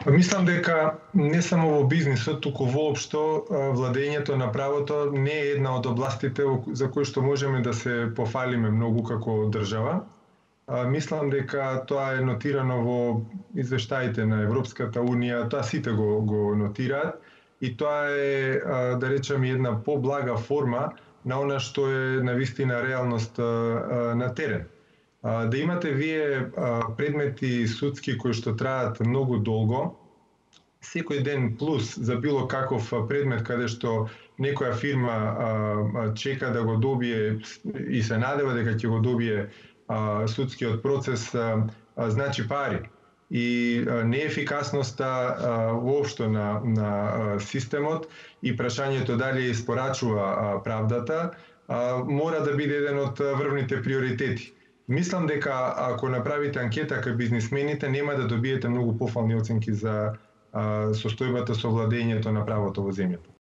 Мислам дека не само во бизнисот, туку воопшто владењето на правото не е една од областите за кои што можеме да се пофалиме многу како држава. Мислам дека тоа е нотирано во извештаите на Европската Унија, тоа сите го нотираат и тоа е, да речеме, една поблага форма на она што е навистина реалност на терен. Да имате вие предмети судски кои што траат многу долго, секој ден плюс за било каков предмет каде што некоја фирма чека да го добие и се надева дека ќе го добие судскиот процес, значи пари. И неефикасноста воопшто на системот и прашањето дали испорачува правдата мора да биде еден од врвните приоритети. Мислам дека ако направите анкета кај бизнисмените, нема да добиете многу пофални оценки за состојбата со владењето на правото во земјата.